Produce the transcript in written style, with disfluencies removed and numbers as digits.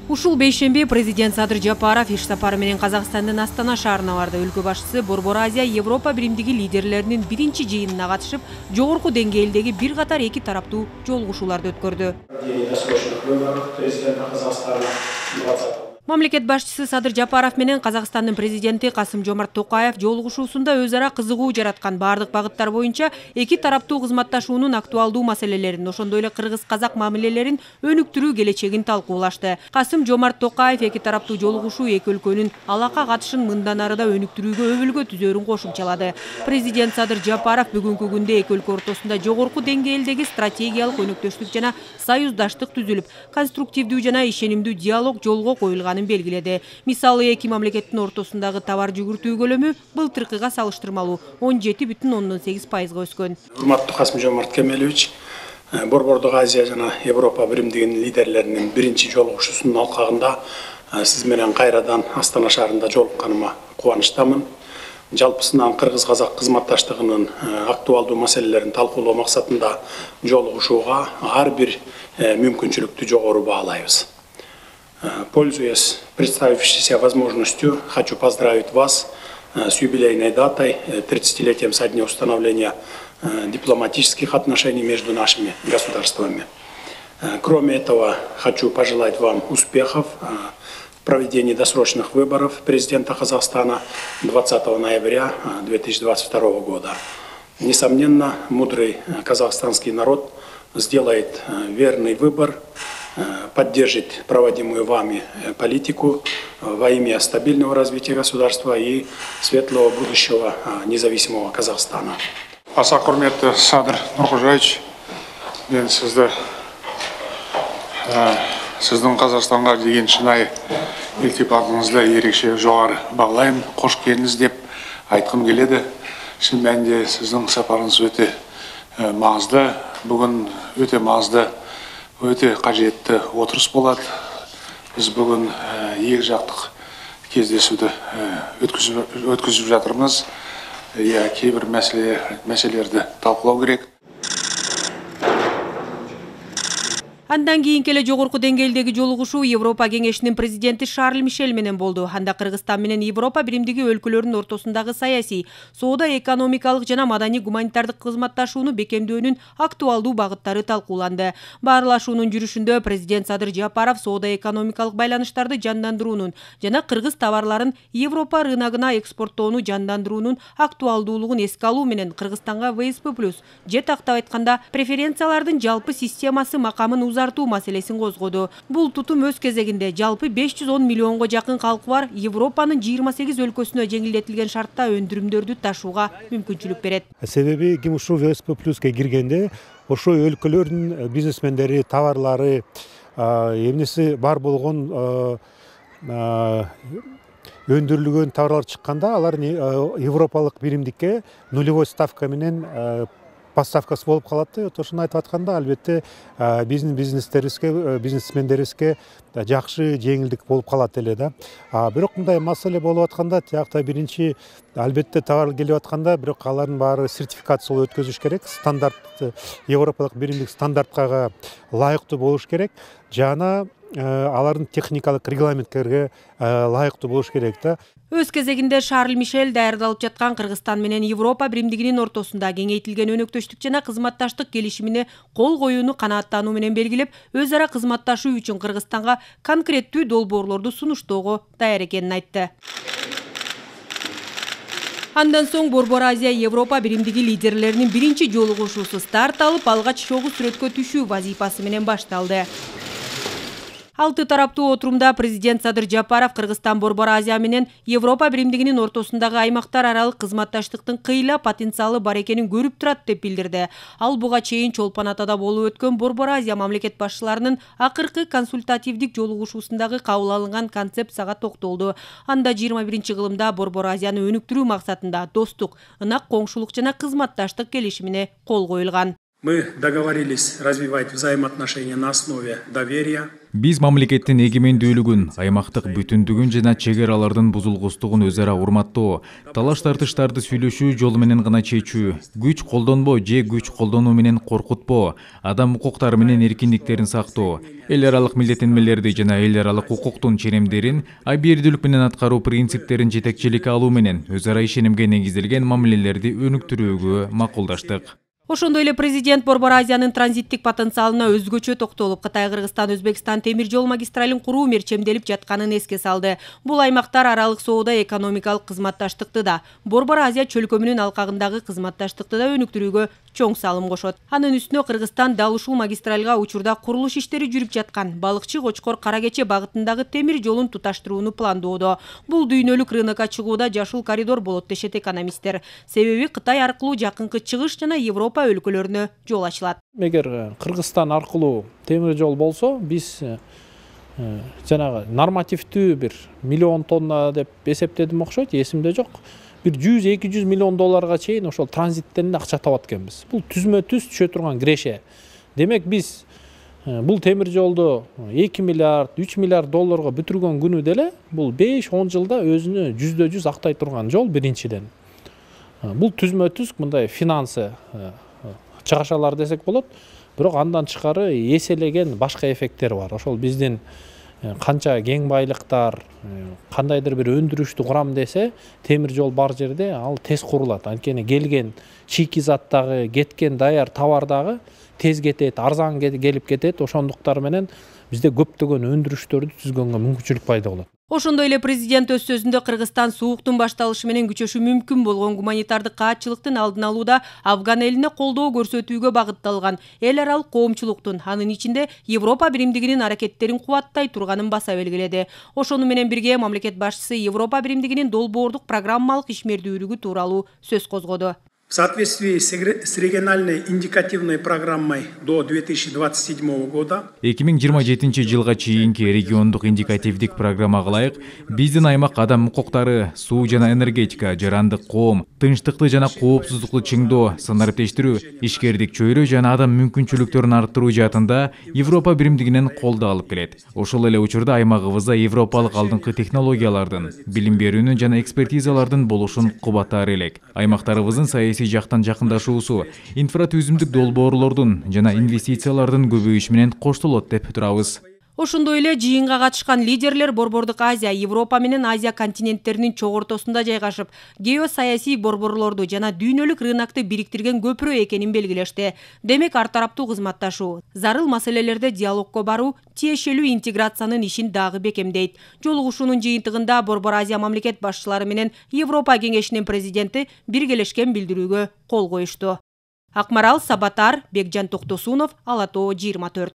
Ушул бейшемби президент Садыр Жапаров иш сапары менен Казакстандын Астана шаарына барды. Өлкө башчысы Борбор Азия Европа биримдиги лидерлеринин биринчи жыйынына катышып, жогорку деңгээлдеги бир катар эки тараптуу жолугушууларды өткөрдү. Мамлекет башчысы Садыр Жапаров менен Казакстандын президенти Касым-Жомарт Токаев жолугушуусунда өз ара кызыгуу жараткан бардык багыттар боюнча эки тараптуу кызматташуунун актуалдуу маселелерин, ошондой эле кыргыз-казак мамилелерин өнүктүрүү келечегин талкуулашты. Касым-Жомарт Токаев эки тараптуу жолугушуу эки өлкөнүн алака катышын мындан ары да өнүктүрүүгө өбөлгө түзөрүн кошумчалады. Президент Садыр Жапаров бүгүнкү күндө эки өлкө ортосунда жогорку деңгээлдеги стратегиялык өнөктөштүк жана союздаштык түзүлүп, конструктивдүү жана ишенимдүү диалог жолго коюлган белгиледи. Мисалы эки мамлекеттин ортосундагы товар жүгүртүү көлөмү былтыркыга салыштырмалуу 17,8%га өскөн. Урматтуу Касым-Жомарт Кемелевич, Борбордук Азия жана Европа биримдигинин лидерлеринин биринчи жолугушуусунун алкагында сиз менен кайрадан Астана шаарында жолукканыма кубанычтамын. Жалпысынан кыргыз-казак кызматташтыгынын актуалдуу маселелерин талкуулоо максатында жолугушууга ар бир мүмкүнчүлүктү жогору баалайбыз. Пользуясь представившейся возможностью, хочу поздравить вас с юбилейной датой, 30-летием со дня установления дипломатических отношений между нашими государствами. Кроме этого, хочу пожелать вам успехов в проведении досрочных выборов президента Казахстана 20 ноября 2022 года. Несомненно, мудрый казахстанский народ сделает верный выбор, поддержит проводимую вами политику во имя стабильного развития государства и светлого будущего независимого Казахстана. Аса құрметті Садыр Нұрқожаевич, мен сіздің Қазақстанға деген шынайы илтипатыңызды ерекше жоғары бағалаймын. Қош келдіңіз деп айтқым келеді. Шын мәнінде сіздің сапарыңыз өте маңызды. Бүгін өте маңызды, өте қажетті отырыс болады. Біз бүгін екі жақтық кездесуді өткізіп жатырмыз. Кейбір мәселелерді талқылау керек. Андан кийинки эле жогорку деңгээлдеги жолугушуу Европа кеңешинин президенти Шарль Мишель менен болду. Анда Кыргызстан менен Европа биримдиги өлкөлөрүнүн ортосундагы саясий, соода, экономикалык жана маданий гуманитардык кызматташууну бекемдөөнүн актуалдуу багыттары талкууланды. Баарлашуунун жүрүшүндө президент Садыр Жапаров соода экономикалык байланыштарды жандандыруунун жана кыргыз товарларын Европа рыногуна экспорттоону жандандыруунун актуалдуулугун эске алуу менен Кыргызстанга ВСП+ же тактап айтканда преференциялардын жалпы системасы макамын узартуу маселесин козгоду. Бул тутум өз кезегинде жалпы 510 миллионго жакын калкы бар Европанын 28 өлкөсүнө жеңилдетилген шартта өндүрүмдөрдү ташууга мүмкүнчүлүк берет. Себеби ким ушул ВСП+га киргенде ошо өлкөлөрдүн бизнесмендери, товарлары, эмнеси бар болгон өндүрүлгөн товарлар чыкканда алар европалык биримдикке нулевой ставка менен поставкасы болуп калат. Ошону айтып атканда, албетте бизнесмендерибизге жакшы жеңилдик болуп калат эле да. Бирок мындай маселе болуп атканда, тиякта биринчи албетте товар келип атканда, бирок алардын баары сертификациялоо өткөзүш керек. Стандарт, европалык биримдик стандарткага ылайыктуу болуш керек. Жана алардын техникалык регламенттерге ылайыктуу болуш керек да. Өз кезегинде Шарль Мишель даярдалып жаткан Кыргызстан менен Европа биримдигинин ортосунда кеңейтилген өнөктөштүк жана кызматташтык келишимине кол коюуну канааттануу менен белгилеп, өз ара кызматташуу үчүн Кыргызстанга конкреттүү долбоорлорду сунуштоого даяр экенин айтты. Андан соң Борбор Азия Европа биримдиги лидерлеринин биринчи жолугушуусу старт алып, алгач чогуу сүрөткө түшүү вазифасы менен башталды. Алты тараптуу отурумда президент Садыр Жапаров Кыргызстан Борбор Азия менен Европа биримдигинин ортосундагы аймактар аралык кызматташтыктын кыйла потенциалы бар экенин көрүп турат деп билдирди. Ал буга чейин Чолпон Атада болуп өткөн Борбор Азия мамлекет башчыларынын акыркы консультативдик жолугушуусундагы кабыл алынган концепцияга токтолду. Анда 21-кылымда Борбор Азияны өнүктүрүү максатында достук, ынак коңшулук жана кызматташтык келишимине кол коюлган. Мы договорились развивать взаимоотношения на основе доверия. Биз мамлекеттин эгемендүүлүгүн, аймактык бүтүндүгүн жана чек аралардын бузулгустугун өз ара урматтоо, талаш тартыштарды сүйлөшүү жолу менен гана чечүү, күч колдонбоо же күч колдонуу менен коркутпоо, адам укуктары менен эркиндиктерин сактоо, эл аралык милдеттенмелерди жана эл аралык укуктун ченемдерин абийирдүүлүк менен аткаруу принциптерин жетекчиликке алуу менен өз ара ишенимге негизделген мамилелерди өнүктүрүүгө макулдаштык. Ошондой эле президент Борбор Азиянын транзиттик потенциалына өзгөчө токтолуп, Кытай, Кыргызстан, Өзбекстан темир жол магистралин куруу мерчемделип жатканын эске салды. Бул аймактар аралык соода экономикалык кызматташтыкты да, Борбор Азия чөлкөмүнүн алкагындагы кызматташтыкты да өнүктүрүүгө чоң салым кошот. Анын үстүнө Кыргызстан дал ушул магистралга учурда курулуш иштери жүрүп жаткан Балыкчы Кочкор Кара Кече багытындагы темир жолун туташтырууну пландоодо. Бул дүйнөлүк рынокко чыгууда жашыл коридор болот дешет экономисттер. Себеби Кытай аркылуу жакынкы чыгыш жана Европа өлкөлөрүнө жол ачылат. Эгер Кыргызстан аркылуу темир жол болсо, биз жанагы нормативдүү бир миллион тонна деп эсептедим окшойт, эсимде жок. Бир 100-200 миллион долларга чейин ошол транзиттен акча табат экенбиз. Бул түзмө-түз түшө турган киреше. Демек биз бул темир жолду 2 миллиард, 3 миллиард долларга бүтүргөн күнү деле бул 5-10 жылда өзүнө 100% актай турган жол биринчиден. Бул түзмө-түз мындай финансы чыгашалар десек болот, бирок андан тышкары эселеген башка эффекттер бар. Ошол биздин канча кең байлыктар, кандайдыр бир өндүрүштү курам десе, темир жол бар жерде ал тез курулат. Анткени келген чийки-зат дагы, кеткен даяр товар дагы тез кетет, арзан келип кетет. Ошондуктар менен бизде көптөгөн өндүрүштөрдү түзгөнгө мүмкүнчүлүк пайда болот. Ошондой эле президент өз сөзүндө Кыргызстан сууктун башталышы менен күчөшү мүмкүн болгон гуманитардык каатчылыктын алдын алууда Афган элине колдоо көрсөтүүгө багытталган эл аралык коомчулуктун, анын ичинде Европа биримдигинин аракеттерин кубаттай турганын баса белгиледи. Ошону менен бирге мамлекет башчысы Европа биримдигинин долбоордук программалык ишмердүүлүгү тууралуу сөз козгоду. В соответствии с региональной индикативной программой до 2027 года 2027 жылга чейинки региондук индикативдик программага ылайык биздин аймак адам укуктары, суу жана энергетика, жарандык коом, тынчтыкты жана коопсуздукту чыңдоо, санариптештирүү, ишкердик чөйрө жана адам мүмкүнчүлүктөрүн арттыруу жаатында Европа биримдигинен колдоо алып келет. Ошол эле учурда аймагыбызда европалык алдыңкы технологиялардын, билим берүүнүн жана экспертизалардын болушун кубаттаар элек. Аймактарыбыздын саясий жактан жакындашуусу, инфратүзүмдүк долбоорлордун жана инвестициялардын көбөйүшү менен коштолот деп турабыз. Ошондой эле жыйынга катышкан лидерлер Борбордук Азия, Европа менен Азия континенттеринин чогортосунда жайгашып, геосаясий борборлорду жана дүйнөлүк рынокту бириктирген көпүрө экенин белгилешти. Демек, ар тараптуу кызматташуу, зарыл маселелерде диалогко баруу тиешелүү интеграциянын ишин дагы бекемдейт. Жолугушуунун жыйынтыгында Борбор Азия мамлекет башчылары менен Европа кеңешинин президенти биргелешкен билдирүүгө кол коюшту. Акмарал Сабатар, Бекжан Токтосунов, Ала Тоо 24.